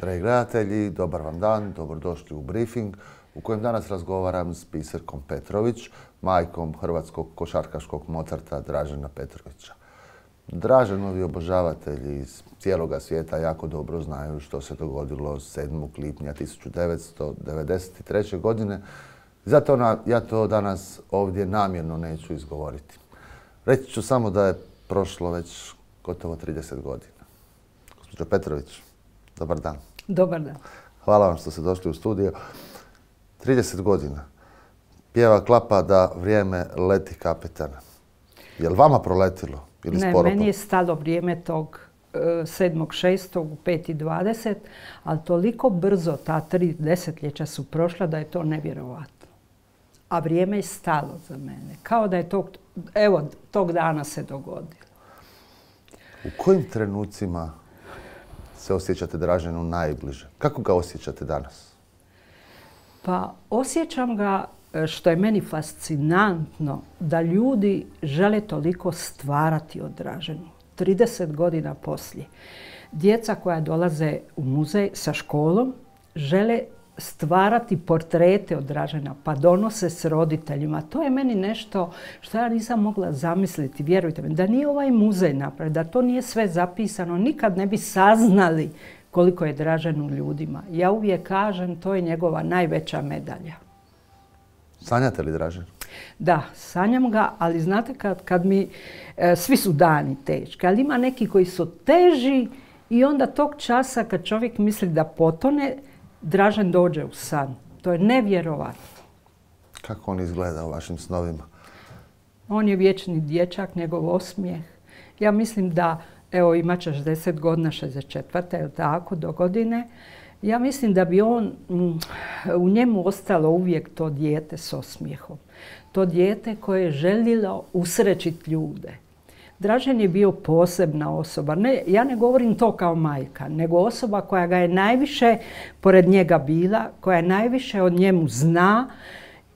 Dragi gledatelji, dobar vam dan, dobrodošli u briefing u kojem danas razgovaram s Biserkom Petrović, majkom hrvatskog košarkaškog Mozarta Dražena Petrovića. Draženovi obožavatelji iz cijeloga svijeta jako dobro znaju što se dogodilo 7. lipnja 1993. godine. Zato ja to danas ovdje namjerno neću izgovoriti. Reći ću samo da je prošlo već gotovo 30 godina. Gospođo Petrović, dobar dan. Dobar dan. Hvala vam što ste došli u studio. 30 godina. Pjeva klapa da vrijeme leti kapetana. Je li vama proletilo? Ili ne, sporo? meni je stalo vrijeme tog 7.6. u 5.20, ali toliko brzo ta 3 desetljeća su prošla da je to nevjerovatno. A vrijeme je stalo za mene. Kao da je tog dana se dogodilo. U kojim trenucima se osjećate Draženu najbliže? Kako ga osjećate danas? Pa osjećam ga, što je meni fascinantno, da ljudi žele toliko stvarati od Draženu. 30 godina poslije. Djeca koja dolaze u muzej sa školom žele stvarati portrete od Dražena, pa donose s roditeljima. To je meni nešto što ja nisam mogla zamisliti, vjerujte mi. Da nije ovaj muzej napravljen, da to nije sve zapisano, nikad ne bi saznali koliko je Dražen u ljudima. Ja uvijek kažem, to je njegova najveća medalja. Sanjate li Dražen? Da, sanjam ga, ali znate kad mi, svi su dani teški, ali ima neki koji su teži i onda tog časa kad čovjek misli da potone, Dražen dođe u san. To je nevjerovatno. Kako on izgleda u vašim snovima? On je vječni dječak, njegov osmijeh. Ja mislim da, evo imat će 60 godina, 64. je tako, do godine. Ja mislim da bi u njemu ostalo uvijek to dijete s osmijehom. To dijete koje je željelo usrećiti ljude. Dražen je bio posebna osoba. Ja ne govorim to kao majka, nego osoba koja ga je najviše pored njega bila, koja je najviše o njemu zna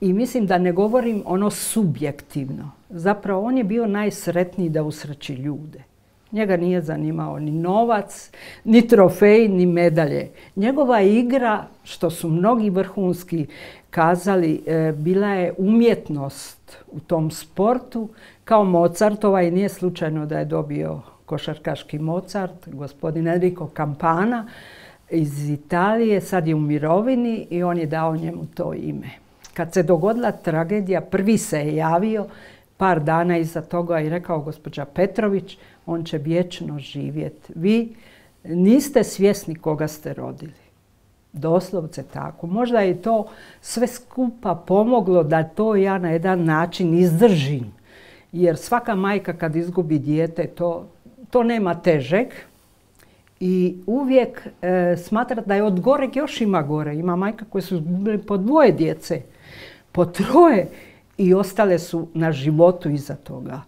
i mislim da ne govorim ono subjektivno. Zapravo on je bio najsretniji da usreći ljude. Njega nije zanimao ni novac, ni trofej, ni medalje. Njegova igra, što su mnogi vrhunski kazali, bila je umjetnost u tom sportu, kao Mozartova, i nije slučajno da je dobio košarkaški Mozart, gospodin Enrico Campana iz Italije, sad je u mirovini i on je dao njemu to ime. Kad se dogodila tragedija, prvi se je javio, par dana iza toga i rekao gospođa Petrović, on će vječno živjeti. Vi niste svjesni koga ste rodili. Doslovce tako. Možda je to sve skupa pomoglo da to ja na jedan način izdržim. Jer svaka majka kad izgubi dijete, to nema težeg. I uvijek smatra da je od goreg još ima gore. Ima majka koje su izgubili po 2 djece, po 3 i ostale su na životu iza toga.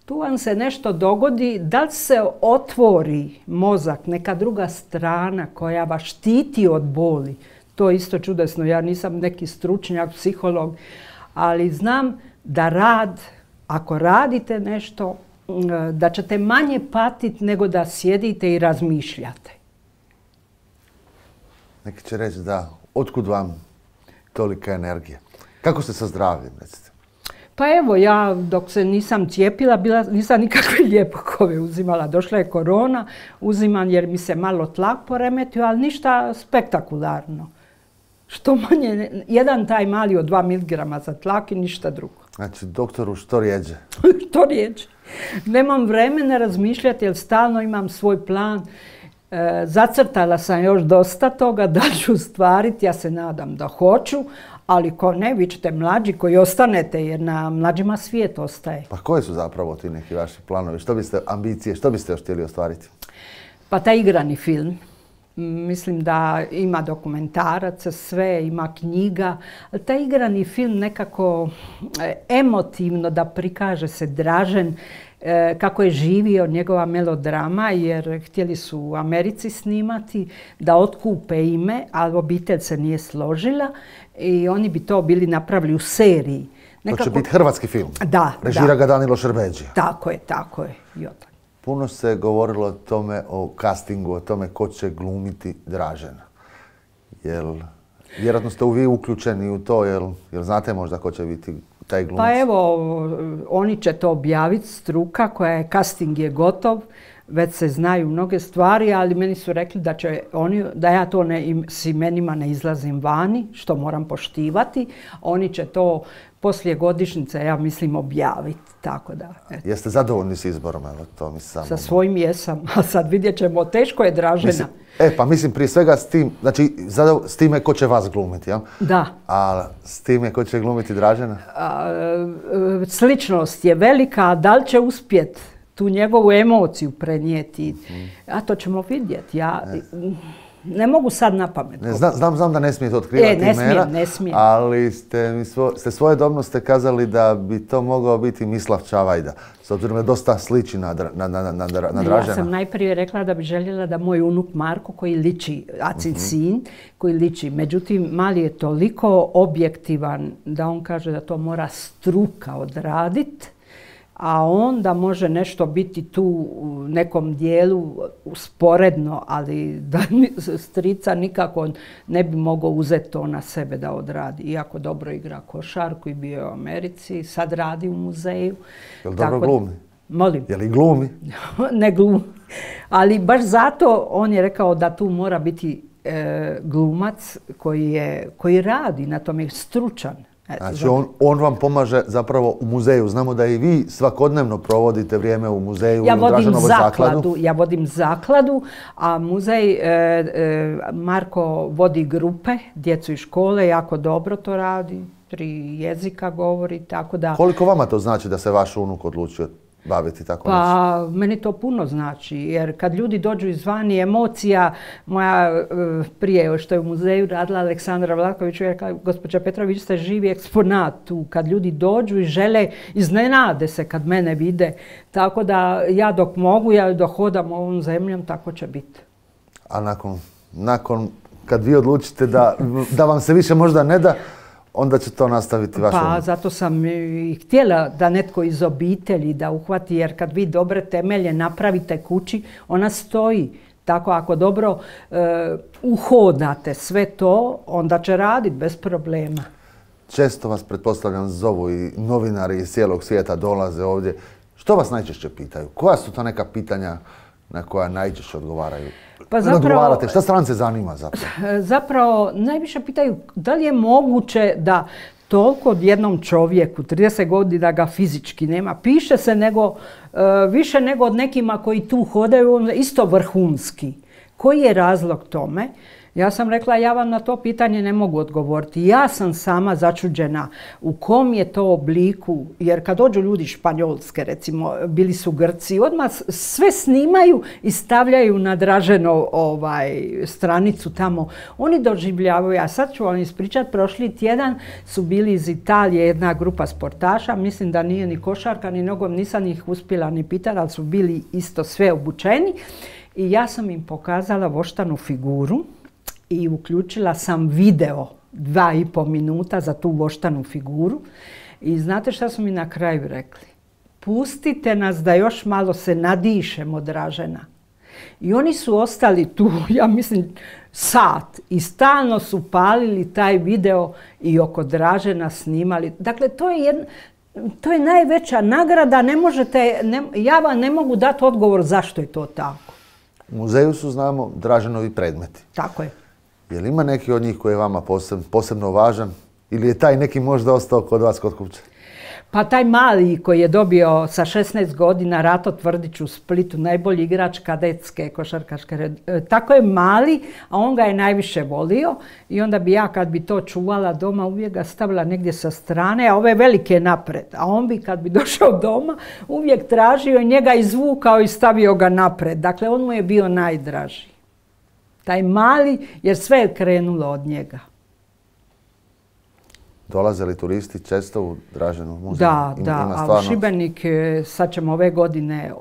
Tu vam se nešto dogodi, da li se otvori mozak, neka druga strana koja vas štiti od boli. To je isto čudesno. Ja nisam neki stručnjak, psiholog, ali znam da ako radite nešto, da ćete manje patiti nego da sjedite i razmišljate. Neki će reći da, otkud vam tolika energija? Kako ste sa zdravljem, recite? Pa evo, ja dok se nisam cijepila, nisam nikakve lijekove uzimala. Došla je korona, uzimam jer mi se malo tlak poremetio, ali ništa spektakularno. Što manje, jedan taj mali od 2 mg za tlak i ništa drugo. Znači, doktoru, što rijeđe? Što rijeđe. Nemam vremena razmišljati jer stalno imam svoj plan. Zacrtala sam još dosta toga da ću ostvariti, ja se nadam da hoću, ali ko ne, vi ćete mlađi koji ostanete jer na mlađima svijet ostaje. Pa koji su zapravo ti neki vaši planovi? Ambicije, što biste još htjeli ostvariti? Pa taj igrani film. Mislim da ima dokumentaraca, sve, ima knjiga. Taj igrani film nekako emotivno da prikaže se Dražen kako je živio, njegova melodrama, jer htjeli su u Americi snimati da otkupe ime, ali obitelj se nije složila i oni bi to bili napravili u seriji. To će biti hrvatski film? Da. Režira ga Danilo Šerbedžija? Tako je. Puno se govorilo o tome, o castingu, o tome ko će glumiti Dražena. Vjerojatno ste vi uključeni u to, jel znate možda ko će biti taj glumac? Pa evo, oni će to objaviti, struka koja je, casting je gotov, već se znaju mnoge stvari, ali meni su rekli da će oni, da ja to s imenima ne izlazim vani, što moram poštivati. Oni će to poslije godišnjice, ja mislim, objaviti. Tako da, eto. Jeste zadovoljni s izborom? Evo, to mi samo... Sa svojim jesam, a sad vidjet ćemo, teško je Dražena. Pa mislim prije svega s tim, znači s time ko će vas glumiti, jel? Da. A s time ko će glumiti Dražena? Sličnost je velika, a da li će uspjeti tu njegovu emociju prenijeti, a to ćemo vidjeti. Ja ne mogu sad na pamet. Znam da ne smijete otkrivati imena, ne smijem. Ali ste svojedobno kazali da bi to mogao biti Mislav Čavajda, s obzirom da dosta sliči na Dražena. Ja sam najprije rekla da bi željela da moj unuk Marko, koji liči, Acin sin, koji liči. Međutim, Mali je toliko objektivan da on kaže da to mora struka odraditi, a onda može nešto biti tu u nekom dijelu usporedno, ali da strica nikako ne bi mogao uzeti to na sebe da odradi. Iako dobro igra košarku i bio je u Americi, sad radi u muzeju. Jel dobro glumi? Molim. Je li glumi? Ne glumi. Ali baš zato on je rekao da tu mora biti glumac koji radi na tome, je stručan. Znači on vam pomaže zapravo u muzeju. Znamo da i vi svakodnevno provodite vrijeme u muzeju, u Draženovoj zakladu. Ja vodim zakladu, a muzej Marko vodi grupe, djecu iz škole, jako dobro to radi, 3 jezika govori, tako da... Koliko vama to znači da se vaš unuk odlučio baviti tako nešto? Pa meni to puno znači, jer kad ljudi dođu izvani, emocija, moja prije što je u muzeju radila Aleksandra Vlaković, je rekla, gospođa Petrović, vi ste živi eksponat tu, kad ljudi dođu i žele, iznenade se kad mene vide, tako da ja dok mogu, ja dok hodam ovom zemljom, tako će biti. A nakon kad vi odlučite da vam se više možda ne da, onda će to nastaviti vaš unuk? Pa zato sam i htjela da netko iz obitelji da uhvati, jer kad vi dobre temelje napravite kući, ona stoji. Tako ako dobro uhodate sve to, onda će raditi bez problema. Često vas, pretpostavljam, zovu i novinari iz cijelog svijeta dolaze ovdje. Što vas najčešće pitaju? Koja su to neka pitanja na koja najčešće odgovaraju? Pa zapravo, šta strance zanima zapravo? Zapravo, najviše pitaju da li je moguće da toliko odjednom čovjeku, 30 godina ga fizički nema, piše se više nego od nekima koji tu hodaju, isto vrhunski. Koji je razlog tome? Ja sam rekla, ja vam na to pitanje ne mogu odgovoriti. Ja sam sama začuđena u kom je to obliku, jer kad dođu ljudi iz Španjolske, recimo, bili su Grci, odmah sve snimaju i stavljaju na Draženo stranicu tamo. Oni doživljavaju, a sad ću vam ispričati, prošli tjedan su bili iz Italije jedna grupa sportaša, mislim da nije ni košarka, ni nogom, nisam ih uspjela ni pitati, ali su bili isto sve obučeni. I ja sam im pokazala voštanu figuru i uključila sam video 2,5 minuta za tu voštanu figuru. I znate šta su mi na kraju rekli? Pustite nas da još malo se nadišemo Dražena. I oni su ostali tu, ja mislim, sat i stalno su palili taj video i oko Dražena snimali. Dakle, to je najveća nagrada, ja vam ne mogu dati odgovor zašto je to tako. U muzeju su, znamo, Draženovi predmeti. Tako je. Je li ima neki od njih koji je vama posebno važan ili je taj neki možda ostao kod vas kod kuće? Pa taj Mali koji je dobio sa 16 godina Rato Tvrdić u Splitu, najbolji igrač kadetske košarkaške, tako je Mali, a on ga je najviše volio i onda bi ja kad bi to čuvala doma uvijek ga stavila negdje sa strane, a ove velike napred. A on bi kad bi došao doma uvijek tražio i njega izvukao i stavio ga napred. Dakle, on mu je bio najdraži. Taj Mali, jer sve je krenulo od njega. Dolaze li turisti često u Draženu muzej? Da, a u Šibenik sad ćemo ove godine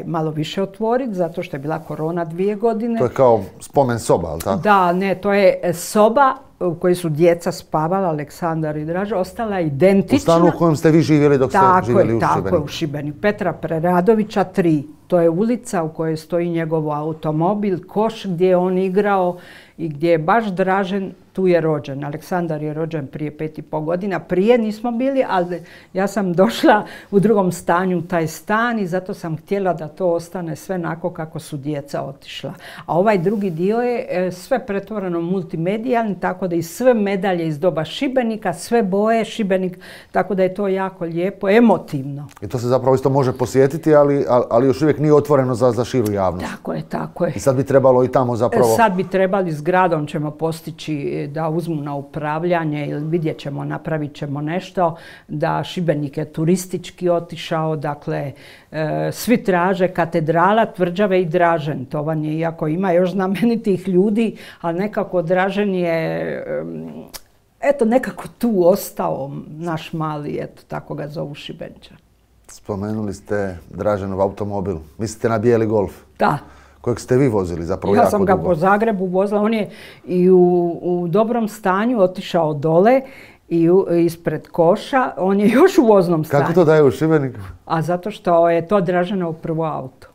malo više otvoriti, zato što je bila korona 2 godine. To je kao spomen soba, ali tako? Da, ne, to je soba u kojoj su djeca spavala, Aleksandar i Draža, ostala identična. U stanu u kojem ste vi živjeli dok ste živjeli u Šibeniku? Tako je, u Šibeniku. Petra Preradovića 3. To je ulica u kojoj stoji njegov automobil, koš gdje je on igrao i gdje je baš Dražen, tu je rođen. Aleksandar je rođen prije 5,5 godina. Prije nismo bili, ali ja sam došla u drugom stanju u taj stan i zato sam htjela da to ostane sve onako kako su djeca otišla. A ovaj drugi dio je sve pretvoreno multimedijalni, tako da i sve medalje iz doba Šibenika, sve boje Šibenik, tako da je to jako lijepo, emotivno. I to se zapravo isto može posjetiti, ali još uvijek nije otvoreno za širu javnost. Tako je, tako je. I sad bi trebalo i tamo zapravo... Sad bi trebali, s gradom ćemo postići da uzmu na upravljanje ili vidjet ćemo, napravit ćemo nešto, da Šibenik je turistički otišao, dakle svi traže katedrala, tvrđave i Dražen. To vam je, iako ima još znamenitih ljudi, ali nekako Dražen je eto nekako tu ostao, naš mali, eto tako ga zovu Šibenča. Spomenuli ste Draženov automobil. Mislite na bijeli Golf? Da. Kojeg ste vi vozili zapravo jako dugo. Ja sam ga po Zagrebu vozila. On je i u dobrom stanju otišao dole i ispred koša. On je još u voznom stanju. Kako to daje u Šibeniku? A zato što je to Draženov prvo auto.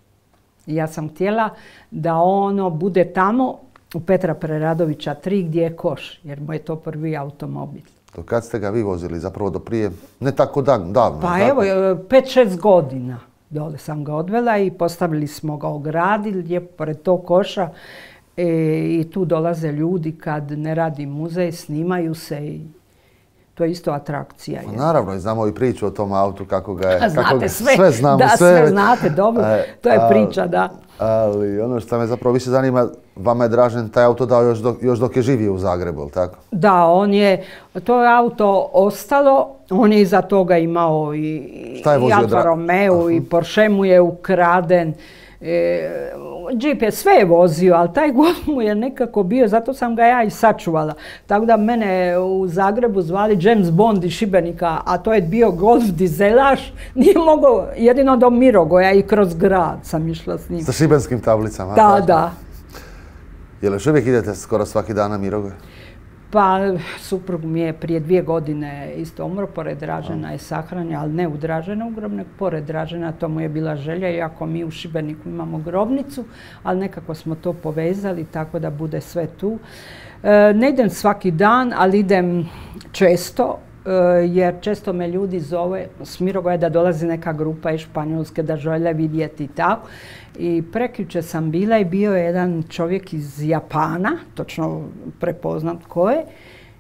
I ja sam htjela da ono bude tamo u Petra Preradovića 3 gdje je koš, jer mu je to prvi automobil. Do kad ste ga vi vozili? Zapravo do prije, ne tako davno. Pa evo, 5-6 godina. Dole sam ga odvela i postavili smo ga, ogradili lijepo pored tog koša i tu dolaze ljudi kad ne radi muzej, snimaju se i to je isto atrakcija. Naravno, i znamo i priču o tom autu, kako ga je... Znate sve, sve znamo, da, sve znate, dobro, to je priča, da. Ali ono što me zapravo više zanima, vama je Dražen taj auto dao još dok je živio u Zagrebu, ili tako? Da, to je auto ostalo, on je iza toga imao i Alfa Romeo i Porsche mu je ukraden. Jeep je sve vozio, ali taj Golf mu je nekako bio, zato sam ga ja i sačuvala. Tako da mene u Zagrebu zvali James Bond iz Šibenika, a to je bio Golf dizelaš, nije mogao, jedino do Mirogoja i kroz grad sam išla s njim. Sa šibenskim tablicama? Da, da. Jel još uvijek idete skoro svaki dan na Mirogoj? Pa suprug mi je prije 2 godine isto umro, pored Dražena je sahranjen, ali ne u Draženov grob, nego pored Dražena, to mu je bila želja, iako mi u Šibeniku imamo grobnicu, ali nekako smo to povezali tako da bude sve tu. Ne idem svaki dan, ali idem često, jer često me ljudi zove s Mirogoja da dolazi neka grupa iz Španjolske da žele vidjeti i tako. I prekjučer sam bila i bio je jedan čovjek iz Japana, točno prepoznat ko je.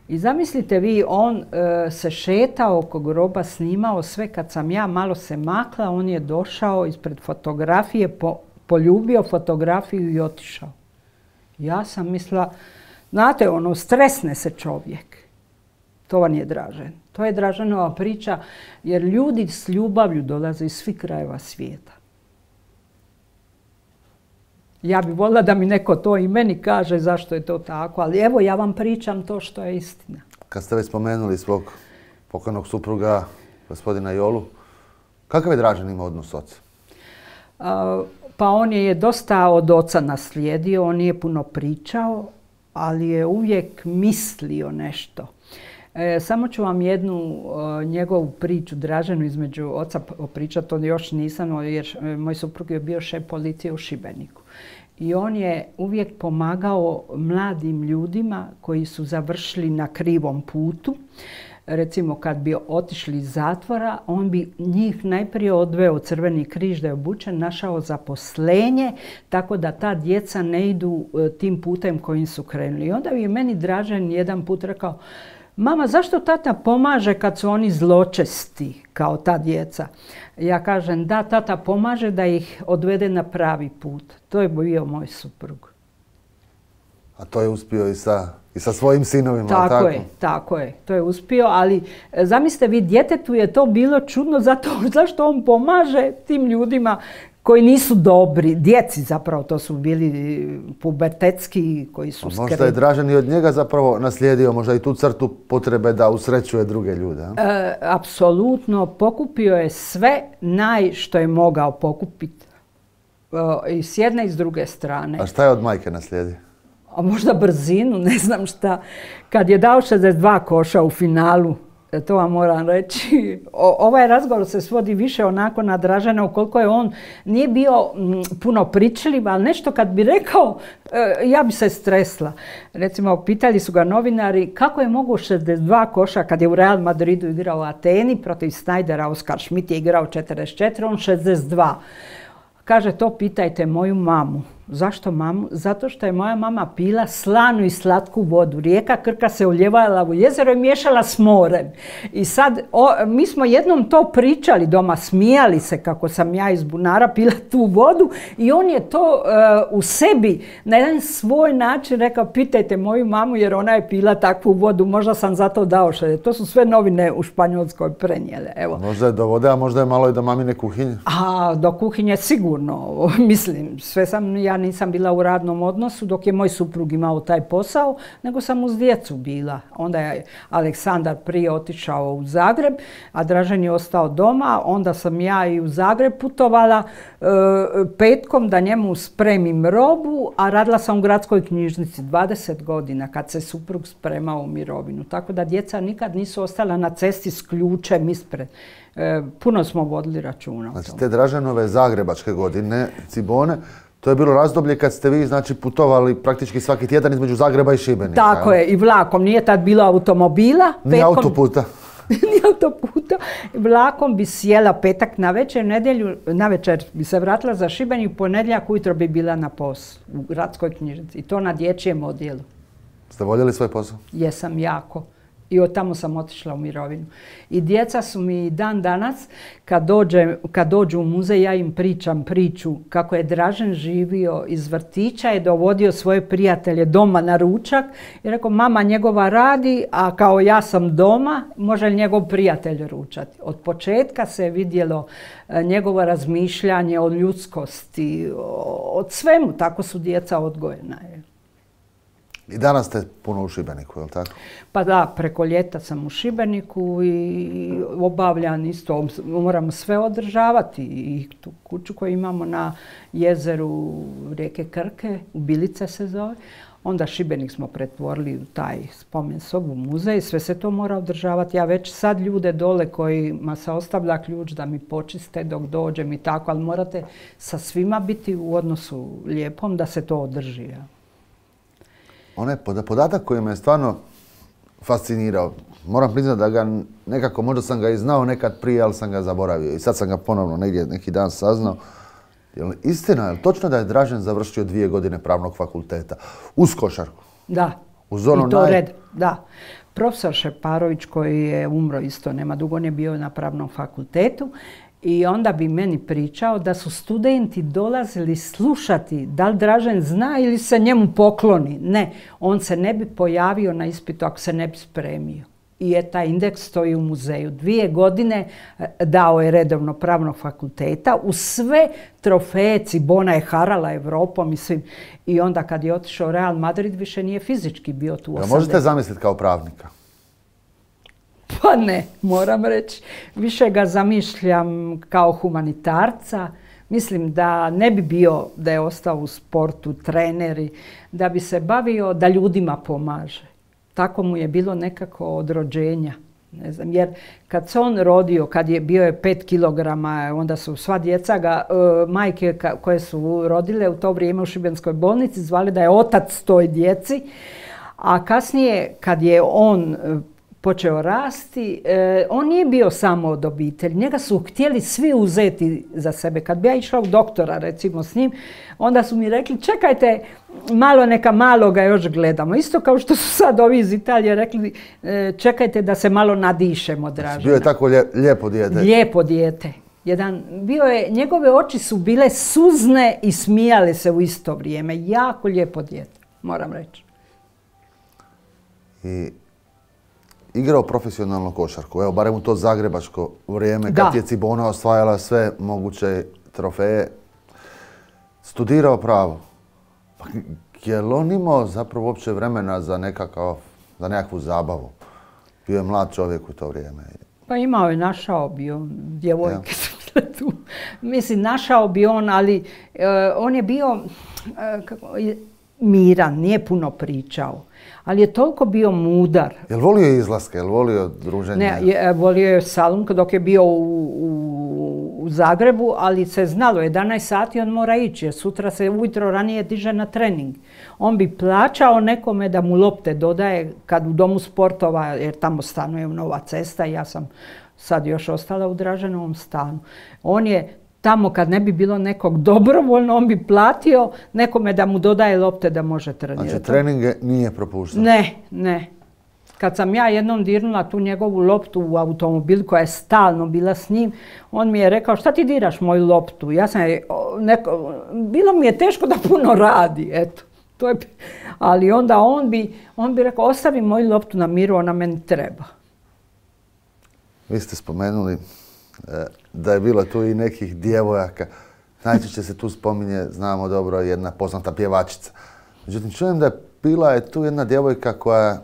I zamislite vi, on se šetao oko groba, snimao sve. Kad sam ja malo se makla, on je došao ispred fotografije, poljubio fotografiju i otišao. Ja sam mislila, znate, stresne se čovjek. To vam je Dražen. To je Draženova priča, jer ljudi s ljubavlju dolaze iz svih krajeva svijeta. Ja bih voljela da mi neko to i meni kaže zašto je to tako, ali evo ja vam pričam to što je istina. Kad ste već spomenuli svog pokojnog supruga, gospodina Jolu, kakav je Dražen imao odnos s ocem? Pa on je dosta od oca naslijedio, on nije puno pričao, ali je uvijek mislio nešto. Samo ću vam jednu njegovu priču Draženu između oca pričati, to još nisam, jer moj suprug je bio šef policije u Šibeniku. I on je uvijek pomagao mladim ljudima koji su završili na krivom putu. Recimo kad bi otišli iz zatvora, on bi njih najprije odveo Crveni križ da je obučen, našao zaposlenje, tako da ta djeca ne idu tim putem kojim su krenuli. I onda bi meni Dražen jedan put rekao, mama, zašto tata pomaže kad su oni zločesti kao ta djeca? Ja kažem, da, tata pomaže da ih odvede na pravi put. To je bio moj suprug. A to je uspio i sa svojim sinovima, tako? Tako je, tako je. To je uspio, ali zamislite vi, djetetu je to bilo čudno zašto on pomaže tim ljudima koji nisu dobri, djeci zapravo, to su bili pubertetski koji su skretni. Možda je Dražen i od njega zapravo naslijedio možda i tu crtu potrebe da usrećuje druge ljude. Apsolutno, pokupio je sve što je mogao pokupiti. I s jedne i s druge strane. A šta je od majke naslijedio? A možda brzinu, ne znam šta. Kad je dao 62 koša u finalu To vam moram reći. Ovaj razgovor se svodi više onako na Dražena, ukoliko je on nije bio puno pričljiv, ali nešto kad bi rekao, ja bi se stresla. Recimo, pitali su ga novinari kako je mogu 62 koša kad je u Real Madridu igrao u Ateni protiv Snydera, Oskar Schmidt je igrao 44, on 62. Kaže, to pitajte moju mamu. Zašto mamu? Zato što je moja mama pila slanu i slatku vodu. Rijeka Krka se uljevala u jezero i miješala s morem. I sad, mi smo jednom to pričali doma, smijali se kako sam ja iz bunara pila tu vodu i on je to u sebi na jedan svoj način rekao, pitajte moju mamu jer ona je pila takvu vodu, možda sam zato dao šalje. To su sve novine u Španjolskoj prenijele. Evo. Možda je do vode, a možda je malo i do mamine kuhinje. A do kuhinje sigurno, mislim, sve ja nisam bila u radnom odnosu dok je moj suprug imao taj posao, nego sam uz djecu bila. Onda je Aleksandar prije otišao u Zagreb, a Dražen je ostao doma. Onda sam ja i u Zagreb putovala petkom da njemu spremim robu, a radila sam u gradskoj knjižnici 20 godina kad se suprug spremao u mirovinu. Tako da djeca nikad nisu ostala na cesti s ključem ispred. Puno smo vodili računa o tome. Znači, te Draženove zagrebačke godine, Cibone, to je bilo razdoblje kad ste vi, znači, putovali praktički svaki tjedan između Zagreba i Šibenika. Tako je, i vlakom. Nije tad bilo automobila. Ni autoputa. Ni autoputa. Vlakom bi sjela petak navečer, nedjelju navečer bi se vratila za Šibenik, ponedjeljak ujutro bi bila na poslu u gradskoj knjižnici. I to na dječjem odjelu. Ste voljeli svoj posao? Jesam, jako. I od tamo sam otišla u mirovinu. I djeca su mi dan danas, kad dođu u muzej, ja im pričam priču kako je Dražen živio iz vrtića, je dovodio svoje prijatelje doma na ručak i rekao, mama njegova radi, a kao ja sam doma, može li njegov prijatelj ručati. Od početka se je vidjelo njegovo razmišljanje o ljudskosti, od svemu, tako su djeca odgojena. I danas ste puno u Šibeniku, je li tako? Pa da, preko ljeta sam u Šibeniku i obavljam isto, moramo sve održavati. I tu kuću koju imamo na jezeru rijeke Krke, u Bilice se zove. Onda Šibenik smo pretvorili u taj spomen sobu, muzej, sve se to mora održavati. Ja već sad ljude dole kojima se ostavlja ključ da mi počiste dok dođem i tako, ali morate sa svima biti u odnosu lijepom da se to održi. Onaj podatak koji me stvarno fascinirao, moram priznati da ga nekako, možda sam ga i znao nekad prije, ali sam ga zaboravio. I sad sam ga ponovno negdje neki dan saznao. Jel istina, je li točno da je Dražen završio 2 godine pravnog fakulteta uz košarku? Da. Uz ono i to red, da. Profesor Šeparović koji je umro isto, nema dugo, on je bio na pravnom fakultetu. I onda bi meni pričao da su studenti dolazili slušati da li Dražen zna ili se njemu pokloni. Ne, on se ne bi pojavio na ispitu ako se ne bi spremio. I taj indeks stoji u muzeju. 2 godine dao je redovno pravnog fakulteta uz sve trofeje, Cibona je harala Evropom i svim. I onda kad je otišao Real Madrid više nije fizički bio tu. Možete zamisliti kao pravnika? Pa ne, moram reći. Više ga zamišljam kao humanitarca. Mislim da ne bi bio da je ostao u sportu, treneri, da bi se bavio da ljudima pomaže. Tako mu je bilo nekako od rođenja. Ne znam, jer kad se on rodio, kad je bio 5 kilograma, onda su sva djeca ga, majke koje su rodile u to vrijeme u Šibenskoj bolnici, zvali da je otac toj djeci. A kasnije, kad je on počeo rasti, on nije bio samo od obitelji. Njega su htjeli svi uzeti za sebe. Kad bi ja išla u doktora, recimo, s njim, onda su mi rekli, čekajte, malo neka maloga još gledamo. Isto kao što su sad ovi iz Italije rekli, čekajte da se malo nadišemo, Dražena. Bio je tako lijepo dijete. Lijepo dijete. Njegove oči su bile suzne i smijale se u isto vrijeme. Jako lijepo dijete, moram reći. I igrao profesionalno košarku, evo, barem u to zagrebačko vrijeme, kad je Cibona osvajala sve moguće trofeje. Studirao pravo. Je li on imao zapravo uopće vremena za nekakvu zabavu? Bio je mlad čovjek u to vrijeme. Pa imao je, našao bi on, djevojke su bile tu. Mislim, našao bi on, ali on je bio miran, nije puno pričao. Ali je toliko bio mudar. Jel volio izlaske, jel volio druženje? Ne, volio je salon dok je bio u Zagrebu, ali se znalo, 11 sati on mora ići, jer sutra se ujutro ranije diže na trening. On bi plaćao nekome da mu lopte dodaje kad u domu sportova, jer tamo stanuje Nova Cesta i ja sam sad još ostala u Draženovom stanu. On je tamo kad ne bi bilo nekog dobrovoljno, on bi platio nekome da mu dodaje lopte da može trenirati. Znači treninge nije propuštao? Ne. Kad sam ja jednom dirnula tu njegovu loptu u automobil koja je stalno bila s njim, on mi je rekao šta ti diraš moju loptu? Ja sam bilo mi je teško da puno radi, eto. Ali onda on bi rekao ostavi moju loptu na miru, ona meni treba. Vi ste spomenuli da je bilo tu i nekih djevojaka. Najčešće se tu spominje, znamo dobro, jedna poznata pjevačica. Međutim, čujem da bila je tu jedna djevojka koja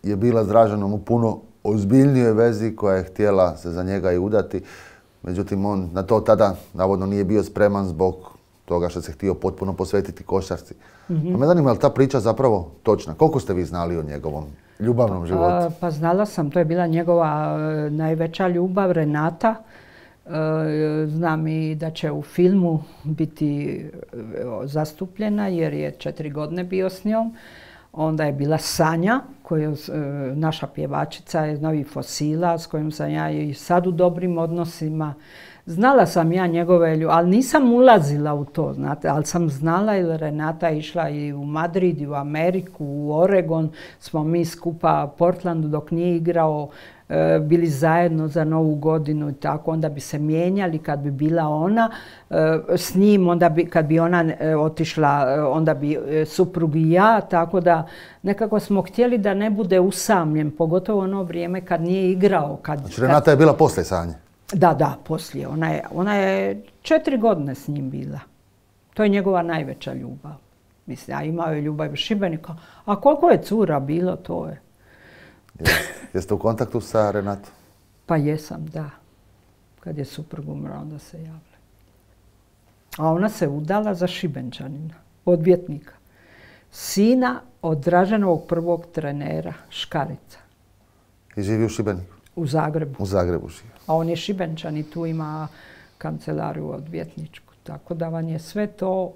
je bila s Draženom u puno ozbiljnijoj vezi, koja je htjela se za njega i udati. Međutim, on na to tada navodno nije bio spreman zbog toga što se htio potpuno posvetiti košarci. Pa me zanima, je li ta priča zapravo točna? Koliko ste vi znali o njegovom ljubavnom životu? Pa znala sam, to je bila njegova najveća ljubav, Renata. Znam i da će u filmu biti zastupljena jer je 4 godine bio s njom. Onda je bila Sanja, naša pjevačica iz Novih Fosila, s kojom sam ja i sad u dobrim odnosima. Znala sam ja njegove ljubav, ali nisam ulazila u to, znate, ali sam znala jer Renata je išla i u Madrid, i u Ameriku, u Oregon, smo mi skupa u Portlandu dok nije igrao, bili zajedno za Novu godinu i tako, onda bi se mijenjali kad bi bila ona s njim, kad bi ona otišla, onda bi suprug i ja, tako da nekako smo htjeli da ne bude usamljen, pogotovo ono vrijeme kad nije igrao. Znači Renata je bila poslije Sanje? Da, poslije. Ona je 4 godine s njim bila. To je njegova najveća ljubav. Mislim, a imao je ljubav u Šibenika. A koliko je cura bilo, to je. Jeste u kontaktu sa Renatom? Pa jesam, da. Kad je suprug umro, onda se javila. A ona se udala za Šibenčanina, odvjetnika. Sina od Draženovog prvog trenera, Škarica. I živi u Šibeniku? U Zagrebu. U Zagrebu živi. A on je Šibenčan i tu ima kancelariju odvjetničku. Tako da vam je sve to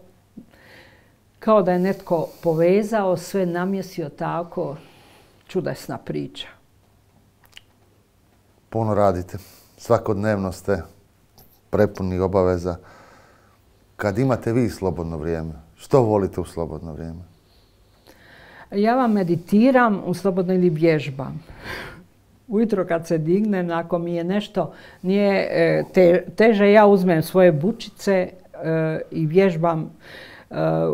kao da je netko povezao, sve namjesio tako. Čudesna priča. Puno radite. Svakodnevno ste prepuni obaveza. Kad imate vi slobodno vrijeme, što volite u slobodno vrijeme? Ja vam meditiram u slobodno ili vježbam. Ujutro kad se dignem, ako mi je nešto nije teže, ja uzmem svoje bučice i vježbam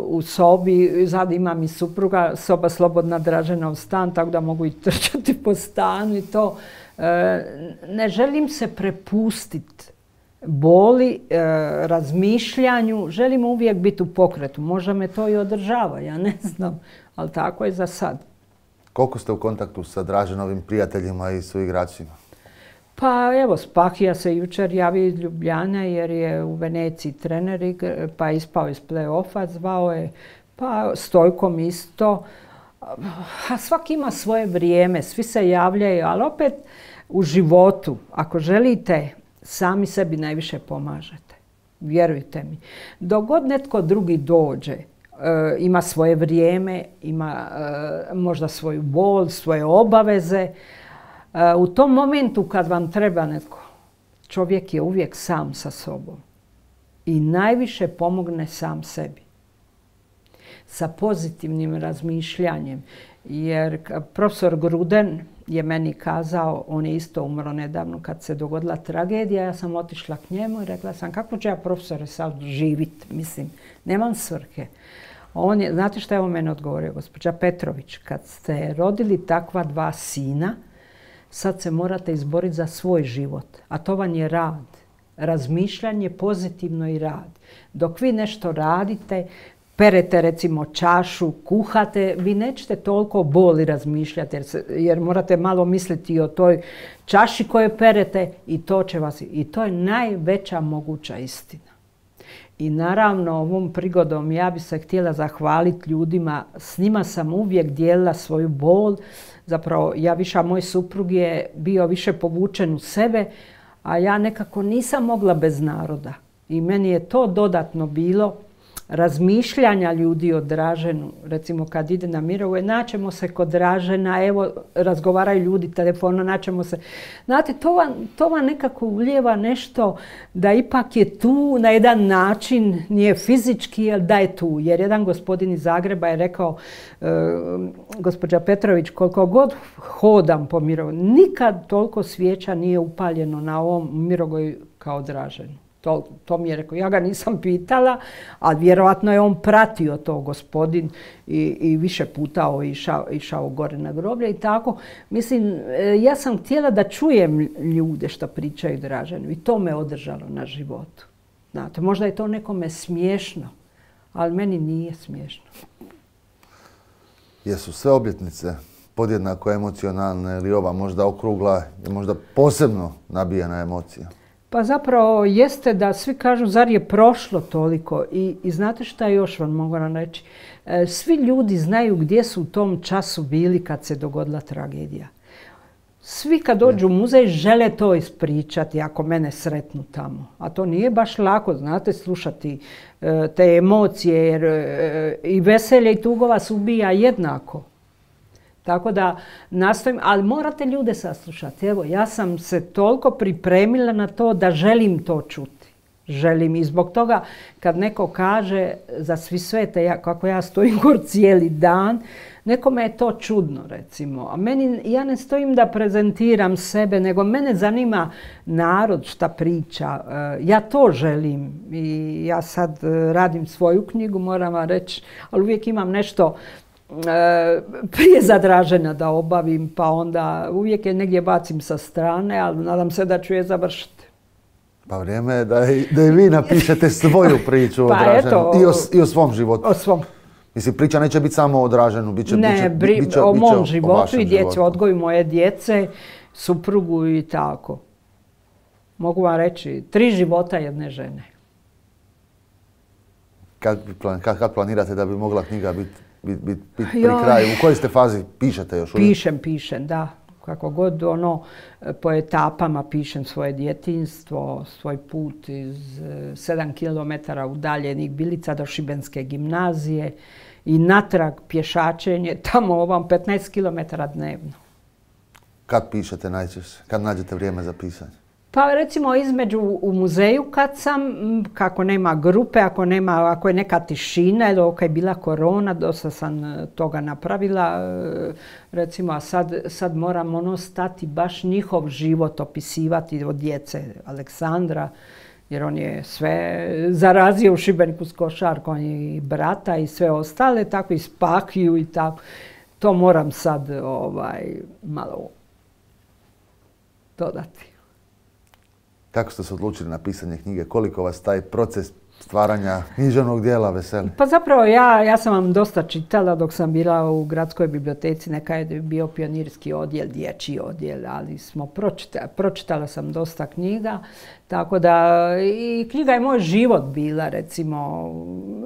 u sobi. Sad imam i supruga, soba slobodna, Draženov stan, tako da mogu i trčati po stanu i to. Ne želim se prepustiti boli, razmišljanju, želim uvijek biti u pokretu. Možda me to i održava, ja ne znam, ali tako je za sad. Koliko ste u kontaktu sa Draženovim prijateljima i suigračima? Pa evo, Spahija se jučer javio iz Ljubljane jer je u Veneciji trener, pa je ispao iz play-offa, zvao je, pa Stojkom isto. A svaki ima svoje vrijeme, svi se javljaju, ali opet u životu, ako želite, sami sebi najviše pomažete. Vjerujte mi. Dok god netko drugi dođe, ima svoje vrijeme, ima možda svoju bol, svoje obaveze. U tom momentu kad vam treba netko, čovjek je uvijek sam sa sobom i najviše pomogne sam sebi. Sa pozitivnim razmišljanjem. Jer profesor Gruden je meni kazao, on je isto umro nedavno kad se dogodila tragedija, ja sam otišla k njemu i rekla sam kako ću ja profesore sad živjeti, mislim, nemam svrhe. Znate šta je on meni odgovorio, gospođa Petrović, kad ste rodili takva 2 sina, sad se morate izboriti za svoj život, a to vam je rad. Razmišljanje pozitivno i rad. Dok vi nešto radite, perete recimo čašu, kuhate, vi nećete toliko boli razmišljati jer morate malo misliti o toj čaši koju perete i to će vas, i to je najveća moguća istina. I naravno ovom prigodom ja bi se htjela zahvaliti ljudima, s njima sam uvijek dijelila svoju bol. Zapravo moj suprug je bio više povučen u sebe, a ja nekako nisam mogla bez naroda. I meni je to dodatno bilo razmišljanja ljudi o Draženu. Recimo kad ide na Mirove, naćemo se kod Dražena, evo razgovaraju ljudi telefonom, naćemo se. Znate, to vam nekako ulijeva nešto da ipak je tu na jedan način, nije fizički, ali da je tu. Jer jedan gospodin iz Zagreba je rekao, gospođa Petrović, koliko god hodam po Mirogoju, nikad toliko svijeća nije upaljeno na ovom Mirogoju kao Draženu. To mi je rekao. Ja ga nisam pitala, ali vjerojatno je on pratio to gospodin i više puta išao gore na groblje i tako. Mislim, ja sam htjela da čujem ljude što pričaju Draženu i to me održalo na životu. Znate, možda je to nekome smiješno, ali meni nije smiješno. Jesu sve obljetnice podjednako emocionalne ili ova možda okrugla i možda posebno nabijena emocija? Pa zapravo jeste da svi kažu zar je prošlo toliko i znate šta još vam mogu reći? Svi ljudi znaju gdje su u tom času bili kad se dogodila tragedija. Svi kad dođu u muzej žele to ispričati ako mene sretnu tamo. A to nije baš lako, znate, slušati te emocije jer i veselje i tuga vas ubija jednako. Tako da nastojim, ali morate ljude saslušati. Evo, ja sam se toliko pripremila na to da želim to čuti. Želim i zbog toga kad neko kaže za Svi svete, kako ja stojim gor cijeli dan, nekome je to čudno recimo. A ja ne stojim da prezentiram sebe, nego mene zanima narod šta priča. Ja to želim i ja sad radim svoju knjigu, moram vam reći, ali uvijek imam nešto prije za Dražena da obavim, pa onda uvijek je negdje bacim sa strane, ali nadam se da ću je završiti. Pa vrijeme je da i vi napišete svoju priču o Draženu i o svom životu. O svom. Mislim, priča neće biti samo o Draženu, bit će o mom životu i djeci, odgoju moje djece, suprugu i tako. Mogu vam reći, 3 života jedne žene. Kad planirate da bi mogla knjiga biti pri kraju? U kojoj ste fazi? Pišete još uvijek? Pišem, da. Kako god po etapama pišem svoje djetinjstvo, svoj put iz 7 km udaljenih Bilica do Šibenske gimnazije i natrag pješačenje, tamo ovam 15 km dnevno. Kad pišete najčešće? Kad nađete vrijeme za pisanje? Pa recimo između u muzeju kad sam, kako nema grupe, ako je neka tišina ili ako je bila korona, dosta sam toga napravila. Recimo, a sad moram stati baš njihov život opisivati od djece Aleksandra, jer on je sve zarazio u Šibeniku s košarkom i brata i sve ostale, tako i Spakiju i tako. To moram sad malo dodati. Kako ste se odlučili na pisanje knjige? Koliko vas taj proces stvaranja književnog dijela veseli? Pa zapravo ja sam vam dosta čitala dok sam bila u gradskoj biblioteci. Neka je bio pionirski odjel, dječji odjel, ali pročitala sam dosta knjiga. Tako da i knjiga je moj život bila, recimo.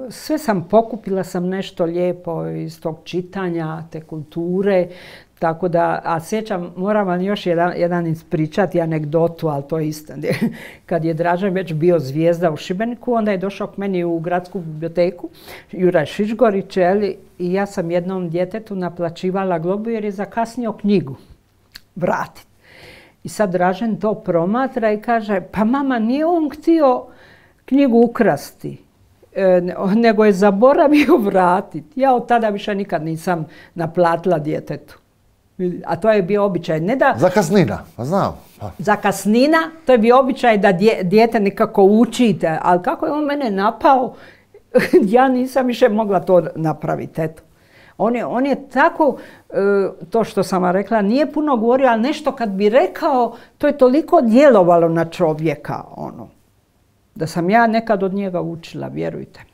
Sve sam pokupila sam nešto lijepo iz tog čitanja, te kulture. Tako da, a sjećam, moram vam još jedan ispričati anegdotu, ali to je isto. Kad je Dražen već bio zvijezda u Šibeniku, onda je došao k meni u gradsku biblioteku, Juraj Šišgorić, i ja sam jednom djetetu naplaćivala globu jer je zakasnio knjigu vratiti. I sad Dražen to promatra i kaže, pa mama, nije on htio knjigu ukrasti, nego je zaboravio vratiti. Ja od tada više nikad nisam naplatila djetetu. A to je bio običaj. Ne da... Zakasnina, pa znam. Zakasnina, to je bio običaj da dijete nekako učite, ali kako je on mene napao, ja nisam više mogla to napraviti. Eto. On je tako, to što sam vam rekla, nije puno govorio, ali nešto kad bi rekao, to je toliko djelovalo na čovjeka, da sam ja nekad od njega učila, vjerujte mi.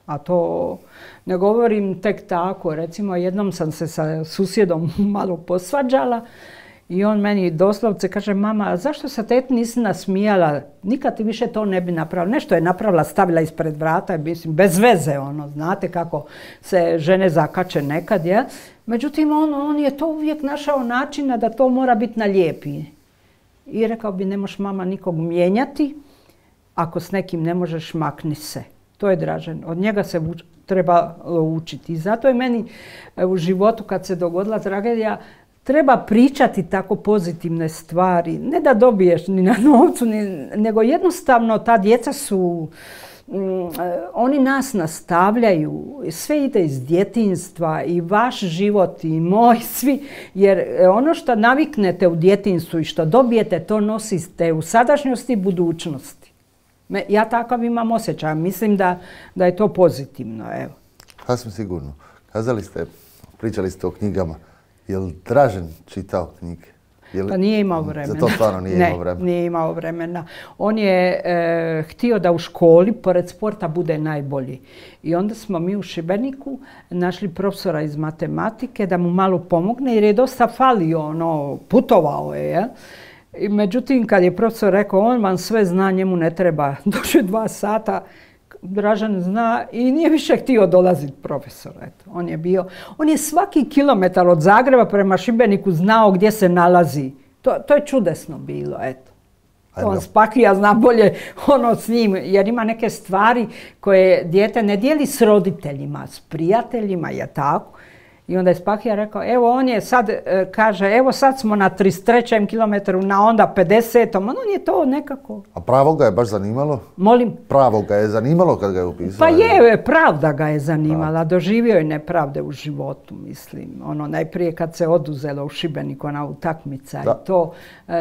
A to ne govorim tek tako. Recimo, jednom sam se sa susjedom malo posvađala I on meni doslovce kaže, mama, zašto se teti nisi nasmijala? Nikad ti više to ne bi napravila. Nešto je napravila, stavila ispred vrata, mislim, bez veze, znate kako se žene zakače nekad, je. Međutim, on je to uvijek našao načina da to mora biti na lijepi. I rekao bi, ne možeš mama nikog mijenjati, ako s nekim ne možeš, makni se. To je Dražen. Od njega se treba učiti. I zato je meni u životu, kad se dogodila tragedija, treba pričati tako pozitivne stvari. Ne da dobiješ ni na novcu, nego jednostavno ta djeca su, oni nas nastavljaju. Sve ide iz djetinjstva i vaš život i moj, svi. Jer ono što naviknete u djetinjstvu i što dobijete, to nosite u sadašnjosti i budućnosti. Ja takav imam osjećaj. Mislim da je to pozitivno. Evo. Sasvim sigurno. Pričali ste o knjigama. Je li Dražen čitao knjige? Pa nije imao vremena. Za to stvarno nije imao vremena. Nije imao vremena. On je htio da u školi, pored sporta, bude najbolji. I onda smo mi u Šibeniku našli profesora iz matematike da mu malo pomogne, jer je dosta falio, putovao je. Međutim, kad je profesor rekao, on vam sve zna, njemu ne treba. Došli 2 sata, Dražen zna i nije više htio dolaziti profesor. Eto, on je svaki kilometar od Zagreba prema Šibeniku znao gdje se nalazi. To je čudesno bilo, eto. On Spakija zna bolje s njim, jer ima neke stvari koje dijete ne dijeli s roditeljima, s prijateljima, je tako. I onda je Spakija rekao, evo on je sad, kaže, evo sad smo na 33. kilometru, na onda 50. On je to nekako... A pravo ga je baš zanimalo? Molim? Pravo ga je zanimalo kad ga je upisao? Pa je, pravda ga je zanimala. Doživio je nepravde u životu, mislim. Najprije kad se oduzelo u Šibeniku ona utakmica i to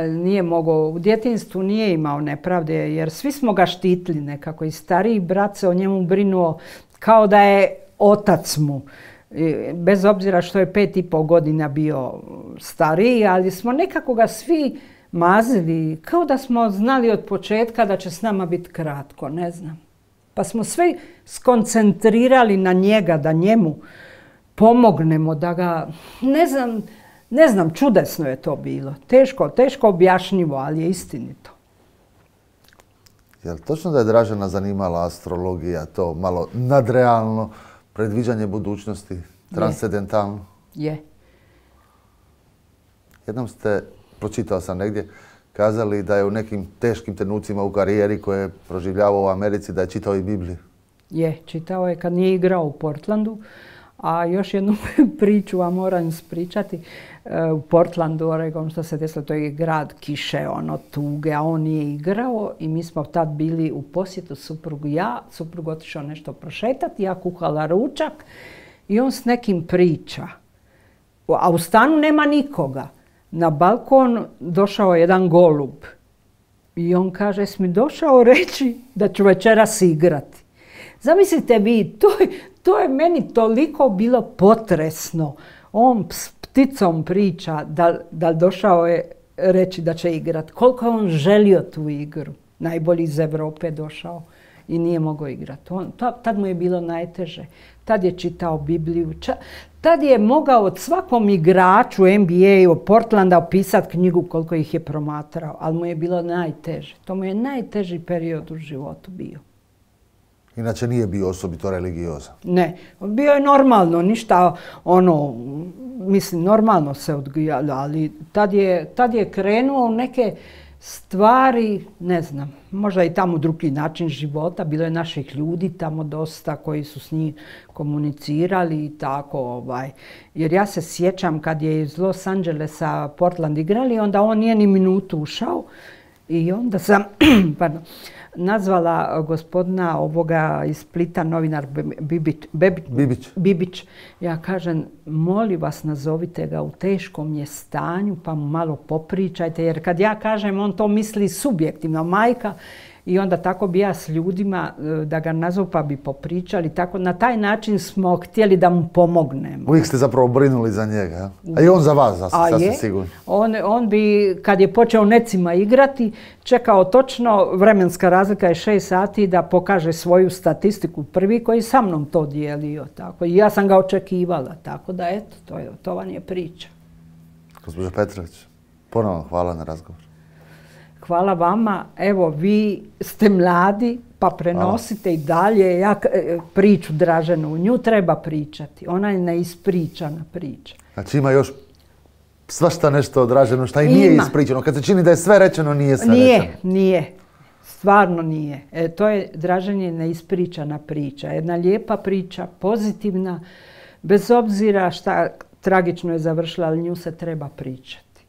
nije mogao, u djetinjstvu nije imao nepravde, jer svi smo ga štitili nekako. I stariji brat se o njemu brinuo kao da je otac mu. Bez obzira što je 5,5 godina bio stariji, ali smo nekako ga svi mazili, kao da smo znali od početka da će s nama biti kratko, ne znam. Pa smo sve skoncentrirali na njega, da njemu pomognemo, da ga, ne znam, čudesno je to bilo. Teško objašnjivo, ali je istinito. Je li točno da je Dražena zanimala astrologija, to malo nadrealno, predviđanje budućnosti, transcendentalno? Je. Jednom ste, pročitao sam negdje, kazali da je u nekim teškim trenucima u karijeri koje je proživljavao u Americi, da je čitao i Bibliju. Je, čitao je kad nije igrao u Portlandu. A još jednu priču vam moram ispričati. U Portlandu, Oregon, što se desilo, to je grad kiše, tuge, a on nije igrao i mi smo tad bili u posjetu suprugu suprug otišao nešto prošetati, ja kuhala ručak i on s nekim priča. A u stanu nema nikoga. Na balkon došao jedan golub i on kaže, jesi mi došao reći da ću večeras igrati? Zamislite vi, to je meni toliko bilo potresno. On s pticom priča da došao je reći da će igrati. Koliko je on želio tu igru. Najbolji iz Europe došao i nije mogao igrati. Tad mu je bilo najteže. Tad je čitao Bibliju. Tad je mogao od svakom igraču NBA od Portlanda opisati knjigu koliko ih je promatrao. Ali mu je bilo najteže. To mu je najteži period u životu bio. Inače nije bio osobito religiozan. Ne, bio je normalno, ništa mislim, normalno se odgajalo, ali tad je krenuo u neke stvari, ne znam, možda i tamo drugi način života, bilo je naših ljudi tamo dosta koji su s njim komunicirali i tako, jer ja se sjećam kad je iz Los Angelesa Portland igrali, onda on nije ni minutu ušao i onda sam, nazvala gospodina ovoga iz Splita, novinar Bibić. Ja kažem, molim vas, nazovite ga, u teškom je stanju, pa mu malo popričajte, jer kad ja kažem, on to misli subjektivno, majka, i onda tako bi ja s ljudima da ga nazovu pa bi popričali. Tako, na taj način smo htjeli da mu pomognemo. Uvijek ste zapravo brinuli za njega, a i on za vas, sasvim sigurno. On bi, kad je počeo necima igrati, čekao točno, vremenska razlika je 6 sati, da pokaže svoju statistiku prvi koji sa mnom to dijelio. Tako. I ja sam ga očekivala, tako da eto, to vam je priča. Gospođo Petrović, Ponovno hvala na razgovor. Hvala vama. Evo, vi ste mladi, pa prenosite i dalje priču Draženu. Nju treba pričati. Ona je neispričana priča. Znači ima još svašta nešto o Draženu šta i nije ispričano. Kad se čini da je sve rečeno, nije sve rečeno. Nije. Stvarno nije. To je Dražen neispričana priča. Jedna lijepa priča, pozitivna, bez obzira šta tragično je završila, ali nju se treba pričati.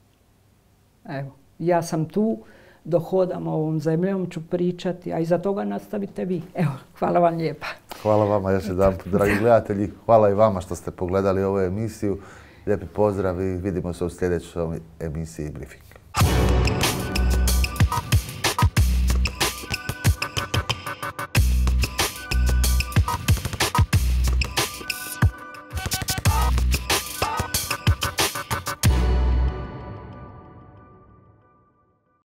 Evo, ja sam tu, dok hodam ovom zemljom ću pričati, a iza toga nastavite vi. Evo, hvala vam lijepa. Hvala vama još jedanput, dragi gledatelji. Hvala i vama što ste pogledali ovu emisiju. Lijepi pozdrav i vidimo se u sljedećoj emisiji Briefing.